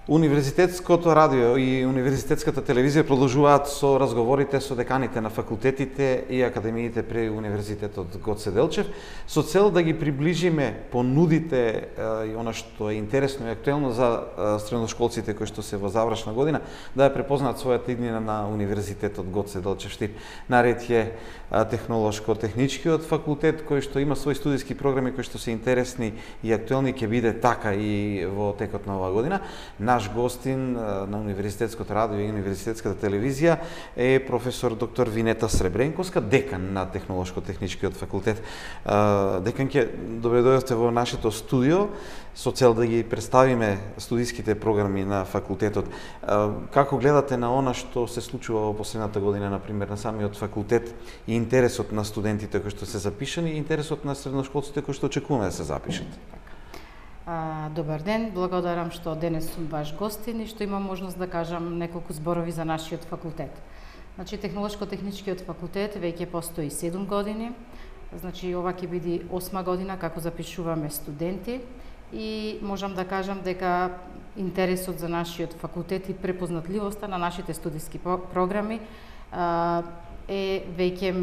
Универзитетското радио и универзитетската телевизија продолжуваат со разговорите со деканите на факултетите и академиите при Универзитетот Гоце Делчев, со цел да ги приближиме понудите и она што е интересно и актуелно за средношколците кои што се во завршна година, да ја препознаат својата иднина на Универзитетот Гоце Делчев Штип. Наред е Технолошко-техничкиот факултет кој што има своји студиски програми кои што се интересни и актуелни, ќе биде така и во текот на оваа година. Наш гостин на Универзитетското радио и Универзитетската телевизија е професор доктор Винета Сребренковска, декан на Технолошко-техничкиот факултет. Деканке, добре дојдовте во нашето студио со цел да ги представиме студиските програми на факултетот. Како гледате на она што се случува во последната година, например, на самиот факултет и интересот на студентите кои што се запишани и интересот на средношколците кои што очекуваме да се запишат? Добар ден, благодарам што денес сум ваш гостин и што имам можност да кажам неколку зборови за нашиот факултет. Значи, Технолошко-техничкиот факултет веќе постои 7 години. Значи, ова ќе биде 8 година како запишуваме студенти и можам да кажам дека интересот за нашиот факултет и препознатливоста на нашите студиски програми е веќе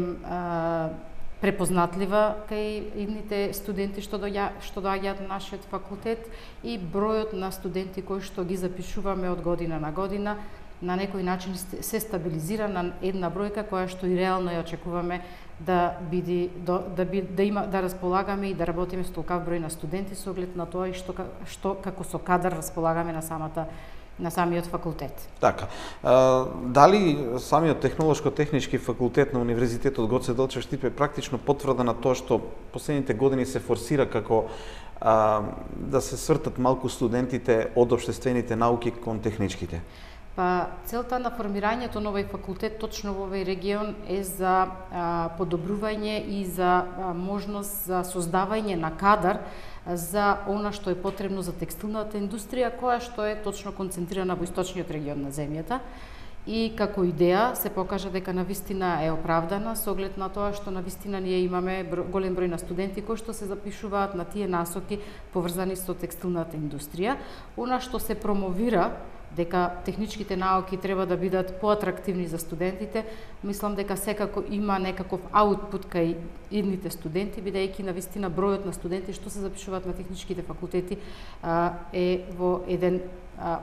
препознатлива кај идните студенти што доаѓаат на нашиот факултет и бројот на студенти кои што ги запишуваме од година на година на некој начин се стабилизира на една бројка која што и реално ја очекуваме да располагаме и да работиме со толкав број на студенти со оглед на тоа и што како со кадар располагаме на самиот факултет. Така. Дали самиот Технолошко-технички факултет на Универзитетот Гоце Делчев Штип е практично потврда на тоа што последните години се форсира како да се свртат малку студентите од општествените науки кон техничките? Целта на формирањето на овој факултет точно во овој регион е за подобрување и за можност за создавање на кадар за она што е потребно за текстилната индустрија, која што е точно концентрирана во источниот регион на земјата. И како идеја се покажа дека навистина е оправдана со оглед на тоа што навистина ние имаме голем број на студенти кои што се запишуваат на тие насоки поврзани со текстилната индустрија. Она што се промовира дека техничките науки треба да бидат поатрактивни за студентите, мислам дека секако има некаков аутпут кај идните студенти, бидејќи навистина бројот на студенти што се запишуваат на техничките факултети е во еден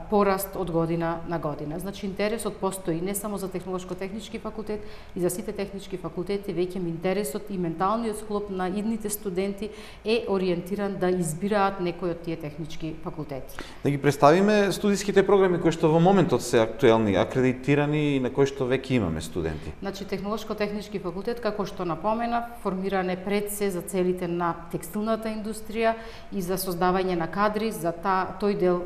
пораст од година на година. Значи, интересот постои не само за Технолошко-технички факултет, и за сите технички факултети, веќе интересот и менталниот склоп на идните студенти е ориентиран да избираат некој од тие технички факултети. Да ги представиме студиските програми кои што во моментот се актуелни, акредитирани и на кои што веќе имаме студенти. Значи, Технолошко-технички факултет, како што напомена, формиран е пред се за целите на текстилната индустрија и за создавање на кадри за тој дел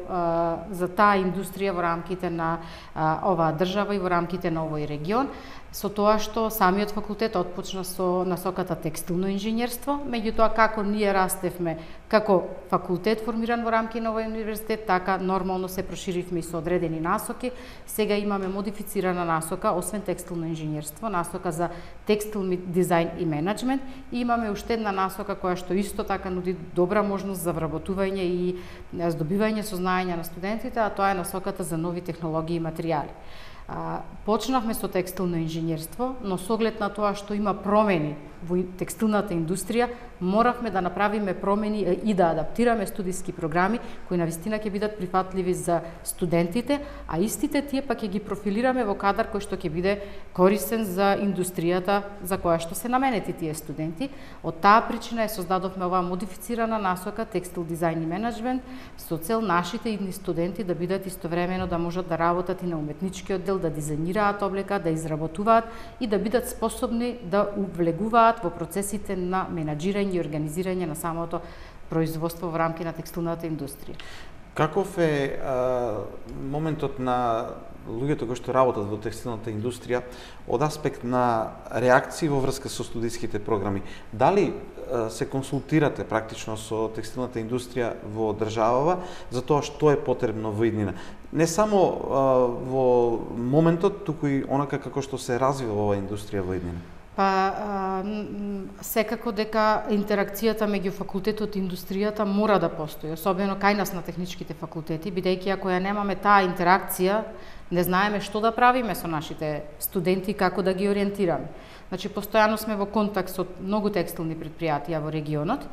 за таа индустрија во рамките на оваа држава и во рамките на овој регион, со тоа што самиот факултет отпочна со насоката текстилно инженерство, меѓутоа како ние растевме како факултет формиран во рамки на овој универзитет, така нормално се проширивме и со одредени насоки. Сега имаме модифицирана насока, освен текстилно инженерство, насока за текстилни дизајн и менеджмент, и имаме уште една насока која што исто така нуди добра можност за вработување и здобивање сознаења на студентите, а тоа е насоката за нови технологии и материјали. Почнавме со текстилно инженерство, но со оглед на тоа што има промени во текстилната индустрија, моравме да направиме промени и да адаптираме студиски програми кои навистина ќе бидат прифатливи за студентите, а истите тие пак ќе ги профилираме во кадар кој што ќе биде корисен за индустријата за која што се наменети тие студенти. Од таа причина создадовме оваа модифицирана насока текстил дизајн и менеджмент со цел нашите идни студенти да бидат истовремено да можат да работат и на уметничкиот дел, да дизајнираат облека, да изработуваат и да бидат способни да увлегуваат во процесите на менаџирање и организирање на самото производство во рамки на текстилната индустрија. Каков е моментот на луѓето кои што работат во текстилната индустрија од аспект на реакции во врска со студиските програми? Дали се консултирате практично со текстилната индустрија во државава за тоа што е потребно во иднина? Не само во моментот, туку и онака како што се развива оваа индустрија во иднина. Секако дека интеракцијата меѓу факултетот и индустријата мора да постои, особено кај нас на техничките факултети, бидејќи ако ја немаме таа интеракција, не знаеме што да правиме со нашите студенти, како да ги ориентираме. Значи, постојано сме во контакт со многу текстилни предпријатија во регионот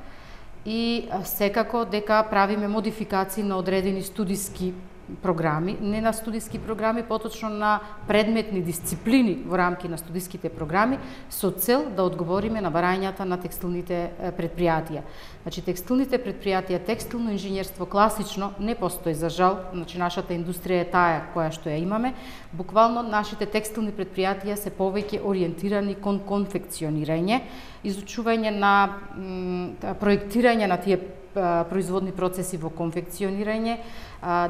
и секако дека правиме модификации на одредени студиски програми, не на студиски програми, поточно на предметни дисциплини во рамки на студиските програми, со цел да одговориме на барањата на текстилните предпријатија. Значи, текстилните предпријатија, текстилно инженерство класично не постои, за жал, значи нашата индустрија е таа која што ја имаме. Буквално нашите текстилни предпријатија се повеќе ориентирани кон конфекционирање, изучување на проектирање на тие производни процеси во конфекционирање,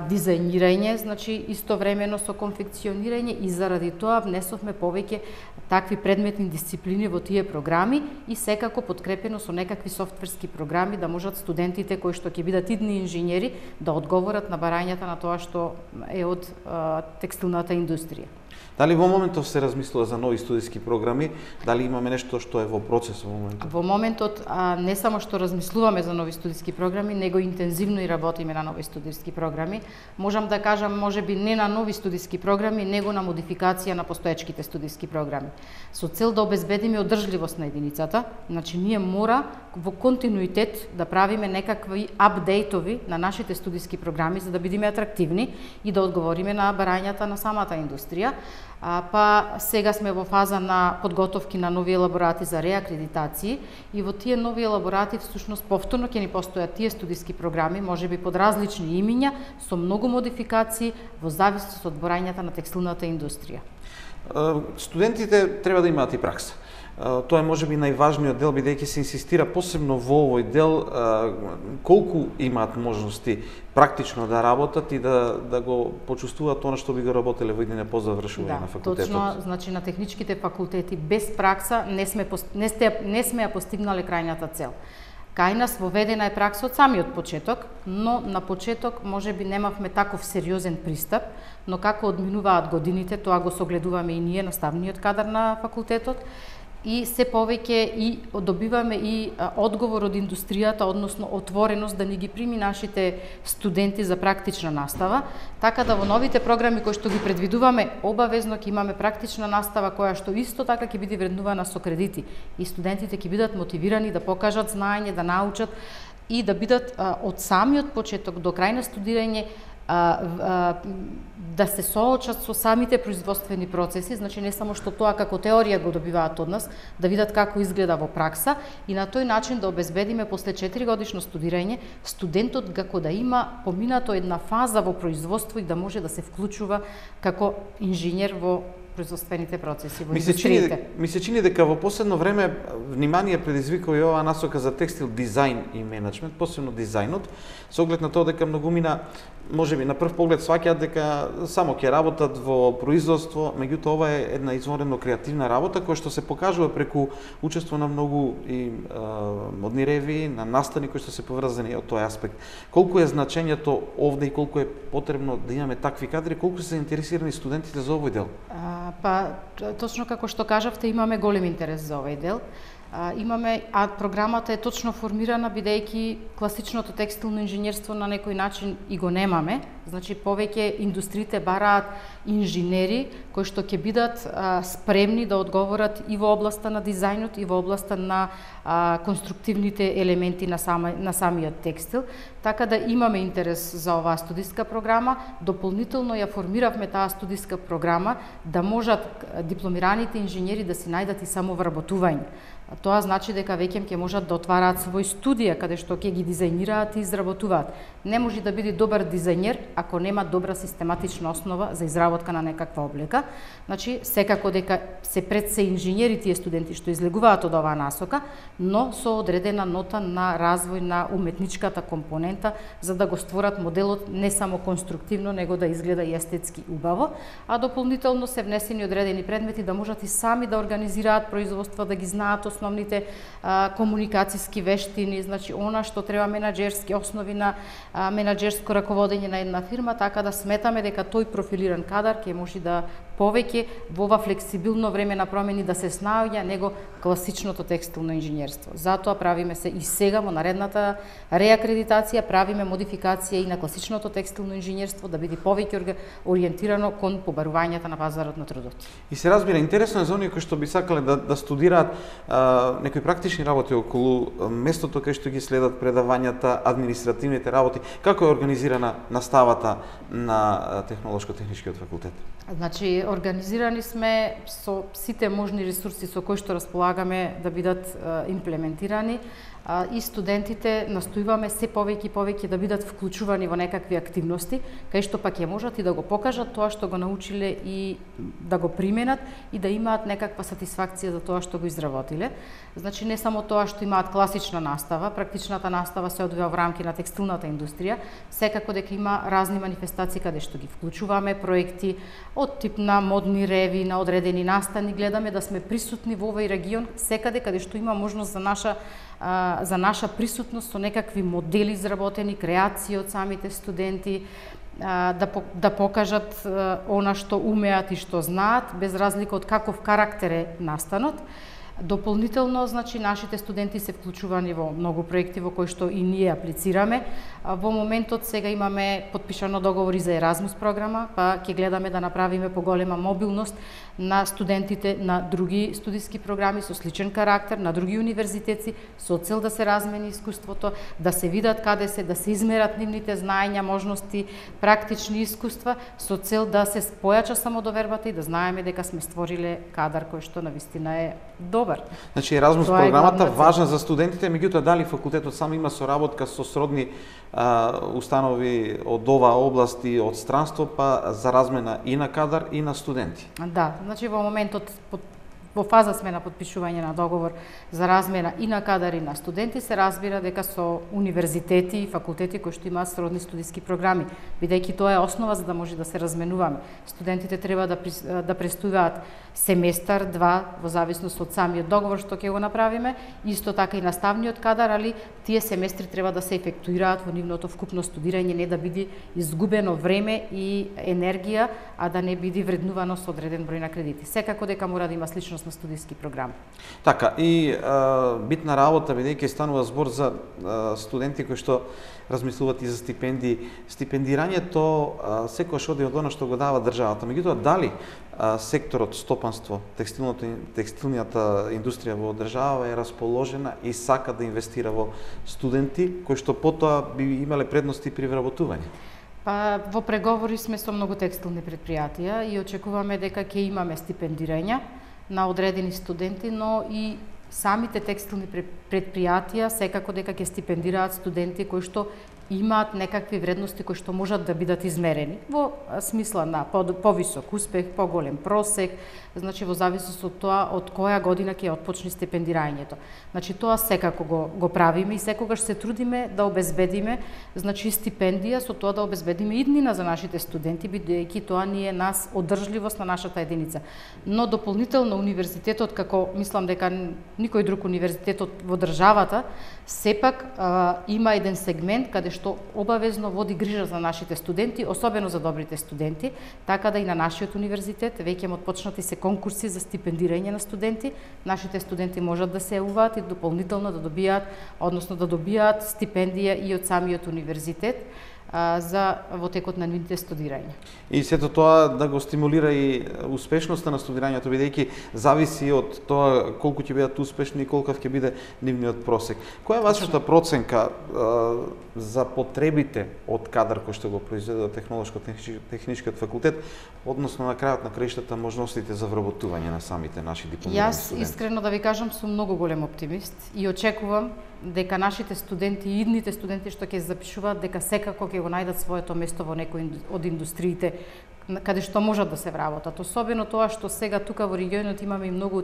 дизајнирање, значи истовремено со конфекционирање, и заради тоа внесовме повеќе такви предметни дисциплини во тие програми и секако подкрепено со некакви софтверски програми да можат студентите кои што ќе бидат идни инженери да одговорат на барањата на тоа што е од текстилната индустрија. Дали во моментов се размислува за нови студиски програми? Дали имаме нешто што е во процес во моментот? Во моментот не само што размислуваме за нови студиски програми, него интензивно и работиме на нови студиски програми. Можам да кажам, можеби не на нови студиски програми, него на модификација на постоечките студиски програми. Со цел да обезбедиме одржливост на единицата, значи ние мора во континуитет да правиме некакви апдейтови на нашите студиски програми за да бидеме атрактивни и да одговориме на барањата на самата индустрија. Сега сме во фаза на подготовки на нови елаборати за реакредитации и во тие нови елаборати всушност повторно ќе ни постојат тие студиски програми, можеби под различни имиња, со многу модификации во зависност од барањата на текстилната индустрија. Студентите треба да имаат и пракса. Тоа е можеби најважниот дел, бидејќи се инсистира посебно во овој дел колку имаат можности практично да работат и да го почувствуваат она што би го работеле во иднина по завршување на факултетот. Точно, значи на техничките факултети без пракса не сме ја постигнале крајната цел. Кај нас воведена е пракса од самиот почеток, но на почеток можеби немавме таков сериозен пристап, но како одминуваат годините, тоа го согледуваме и ние, наставниот кадар на факултетот, и се повеќе и добиваме и одговор од индустријата, односно отвореност да ни ги прими нашите студенти за практична настава, така да во новите програми кои што ги предвидуваме, обавезно ќе имаме практична настава која што исто така ќе биде вреднувана со кредити и студентите ќе бидат мотивирани да покажат знаење, да научат и да бидат од самиот почеток до крај на студирање да се соочат со самите производствени процеси, значи не само што тоа како теорија го добиваат од нас, да видат како изгледа во пракса и на тој начин да обезбедиме после 4-годишно студирање студентот како да има поминато една фаза во производство и да може да се вклучува како инженер во производствените процеси во индустриите. Ми се чини дека во последно време внимание предизвикува и оваа насока за текстил дизајн и менеджмент, посебно дизајнот, со оглед на тоа дека многумина можеби на прв поглед сваќаат дека само ќе работат во производство, меѓутоа ова е една изворено креативна работа која што се покажува преку учество на многу и модни ревии, на настани кои што се поврзани од тој аспект. Колку е значењето овде и колку е потребно да имаме такви кадри, колку се заинтересирани студентите за овој дел? Точно како што кажавте, имаме голем интерес за овој дел. Програмата е точно формирана бидејќи класичното текстилно инженерство на некој начин и го немаме. Значи повеќе индустриите бараат инженери кои што ќе бидат спремни да одговорат и во областа на дизајнот и во областа на конструктивните елементи на самиот текстил. Така да имаме интерес за оваа студиска програма. Дополнително ја формиравме таа студиска програма да можат дипломираните инженери да си најдат и самовработување. Тоа значи дека веќе ќе можат да отвараат свој студија каде што ќе ги дизајнираат и изработуваат. Не може да биде добар дизајнер ако нема добра систематична основа за изработка на некаква облека. Значи секако дека се пред се инженери тие студенти што излегуваат од оваа насока, но со одредена нота на развој на уметничката компонента за да го створат моделот не само конструктивно, него да изгледа и естетски убаво, а дополнително се внесени одредени предмети да можат и сами да организираат производства, да ги знаат основните комуникацијски вештини, значи она што треба менаџерски основи на менаџерско раководење на една фирма, така да сметаме дека тој профилиран кадар ќе може да повеќе во ова флексибилно време на промени да се снаоѓа него класичното текстилно инженерство. Затоа правиме се и сега во наредната реакредитација правиме модификација и на класичното текстилно инженерство да биде повеќе ориентирано кон побарувањата на пазарот на трудот. И се разбира, интересно е за оние кои што би сакале да студираат некои практични работи околу местото кај што ги следат предавањата, административните работи. Како е организирана наставата на Технолошко-техничкиот факултет? Значи, организирани сме со сите можни ресурси со кои што располагаме да бидат имплементирани и студентите настојуваме се повеќе и повеќе да бидат вклучувани во некакви активности, кај што пак ќе можат и да го покажат тоа што го научиле и да го применат и да имаат некаква сатисфакција за тоа што го изработиле. Значи, не само тоа што имаат класична настава, практичната настава се одвива во рамки на текстилната индустрија, секако дека има разни манифестации каде што ги вклучуваме, проекти од тип на модни реви, на одредени настани, гледаме да сме присутни во овој регион, секаде каде што има можност за наша присутност со некакви модели изработени, креации од самите студенти, да покажат она што умеат и што знаат, без разлика од каков карактер е настанот. Дополнително, значи, нашите студенти се вклучувани во многу проекти во кои што и ние аплицираме. Во моментот сега имаме подпишано договори за Еразмус програма, па ќе гледаме да направиме поголема мобилност на студентите на други студиски програми со сличен карактер, на други универзитети, со цел да се размени искуството, да се видат каде се, да се измерат нивните знаења, можности, практични искуства, со цел да се појача самодовербата и да знаеме дека сме створиле кадар кој што навистина е добар. Значи, Еразмус програмата важна за студентите, меѓутоа дали факултетот сам има соработка со сродни установи од оваа област и од странство, па за размена и на кадар и на студенти? Да, значи во моментот во фаза сме на подпишување на договор за размена и на кадар и на студенти, се разбира дека со универзитети и факултети кои што имаат сродни студиски програми, бидејќи тоа е основа за да може да се разменуваме. Студентите треба да престојуваат семестар, два, во зависност од самиот договор што ќе го направиме, исто така и наставниот кадар, али тие семестри треба да се ефектуираат во нивното вкупно студирање, не да биде изгубено време и енергија, а да не биде вреднувано со одреден број на кредити. Секако дека мора да има сличност на студиски програм. Така, и битна работа, бидејќи станува збор за студенти кои што размислуваат и за стипендии. Стипендирањето секогаш оди од оно што го дава државата. Меѓутоа, дали секторот стопанство, текстилнијата индустрија во држава е расположена и сака да инвестира во студенти кои што потоа би имале предности при вработување? Па, во преговори сме со многу текстилни претпријатија и очекуваме дека ќе имаме стипендирања на одредени студенти, но и самите текстилни претпријатија секако дека ќе стипендираат студенти кои што имаат некакви вредности кои што можат да бидат измерени во смисла на повисок успех, поголем просек, значи во зависност од тоа од која година ќе отпочне стипендирањето. Значи тоа секако го правиме и секогаш се трудиме да обезбедиме, значи стипендија, со тоа да обезбедиме иднина за нашите студенти, бидејќи тоа ни е нас одржливост на нашата единица. Но дополнително универзитетот, како мислам дека никој друг универзитет во државата, сепак има еден сегмент каде што обавезно води грижа за нашите студенти, особено за добрите студенти, така да и на нашиот универзитет веќе отпочнати се конкурси за стипендирање на студенти. Нашите студенти можат да се јавуваат и дополнително да добијаат, односно да добијаат стипендија и од самиот универзитет во текот на нивните студирање. И сето тоа да го стимулира и успешноста на студирањето, бидејќи зависи од тоа колку ќе бидат успешни и колкав ќе биде нивниот просек. Која е вашата проценка за потребите од кадар кој што го произведува Технолошко-техничкиот факултет, односно на крајот на краиштата можностите за вработување на самите наши дипломирани студенти? Јас искрено да ви кажам сум многу голем оптимист и очекувам дека нашите студенти и идните студенти што ќе запишуваат дека секако ќе го најдат своето место во некој од индустриите каде што можат да се вработат. Особено тоа што сега тука во регионот имаме и многу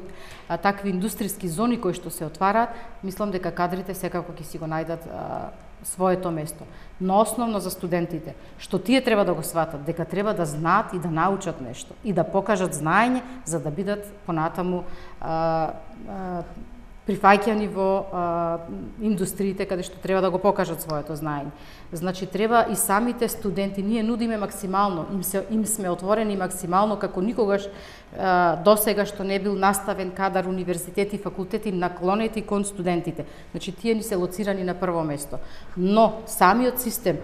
такви индустријски зони кои што се отвараат, мислам дека кадрите секако ќе си го најдат своето место. Но основно за студентите, што тие треба да го сватат, дека треба да знаат и да научат нешто и да покажат знаење за да бидат понатаму прифаќани во индустриите каде што треба да го покажат своето знаење. Значи треба и самите студенти, ние нудиме максимално, им сме отворени максимално како никогаш досега што не бил наставен кадар универзитети и факултети наклонети кон студентите. Значи тие ни се лоцирани на прво место. Но самиот систем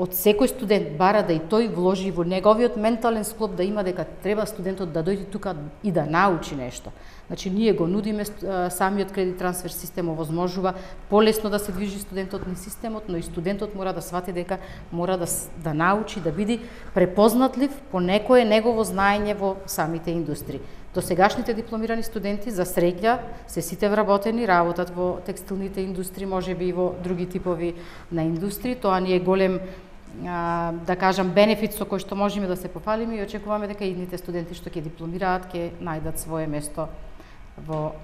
од секој студент бара да и тој вложи во неговиот ментален склоп да има дека треба студентот да дојде тука и да научи нешто. Значи ние го нудиме, самиот кредит трансфер систем овозможува полесно да се движи студентот низ системот, но и студентот мора да свати дека мора да научи, да биде препознатлив по некое негово знаење во самите индустрии. Досегашните дипломирани студенти за среќа се сите вработени, работат во текстилните индустрии, можеби и во други типови на индустрии. Тоа ни е голем, да кажам, бенефит со кој што можеме да се пофалиме и очекуваме дека идните студенти што ќе дипломираат ќе најдат свое место во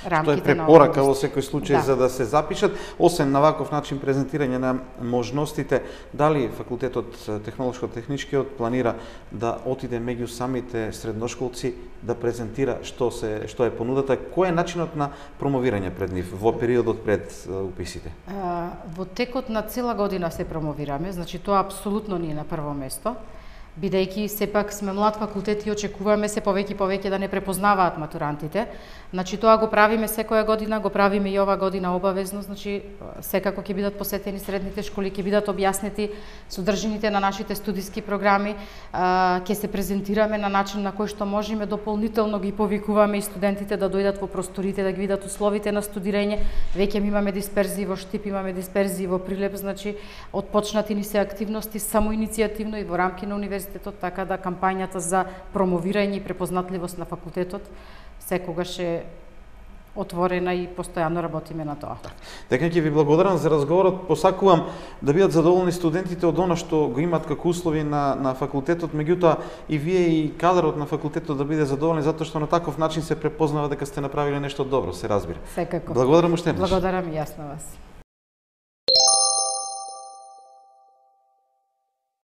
рамките на препорака во секој случај, да, за да се запишат, освен на ваков начин презентирање на можностите, дали факултетот технолошко-техничкиот планира да отиде меѓу самите средношколци да презентира што е понудата, кој е начинот на промовирање пред нив во периодот пред уписите? Во текот на цела година се промовираме, значи тоа апсолутно ни е на прво место. Бидејќи сепак сме млад факултет и очекуваме се повеќе да не препознаваат матурантите. Значи тоа го правиме секоја година, го правиме и ова година обавезно, значи секако ќе бидат посетени средните школи, ќе бидат објаснети содржините на нашите студиски програми, ќе се презентираме на начин на кој што можеме, дополнително ги повикуваме и студентите да дојдат во просторите, да ги видат условите на студирање. Веќе имаме дисперзии во Штип, имаме дисперзии во Прилеп, значи отпочнати ни се активности самоиницијативно и во рамки на универзитетот, така да кампањата за промовирање и препознатливост на факултетот секогаш е отворена и постојано работиме на тоа. Дека ќе ви благодарам за разговорот, посакувам да бидат задоволни студентите од она што го имаат како услови на факултетот, меѓутоа и вие и кадарот на факултетот да биде задоволни, затоа што на таков начин се препознава дека сте направиле нешто добро, се разбира. Секако. Благодарам уште еднаш. Благодарам и јас на вас.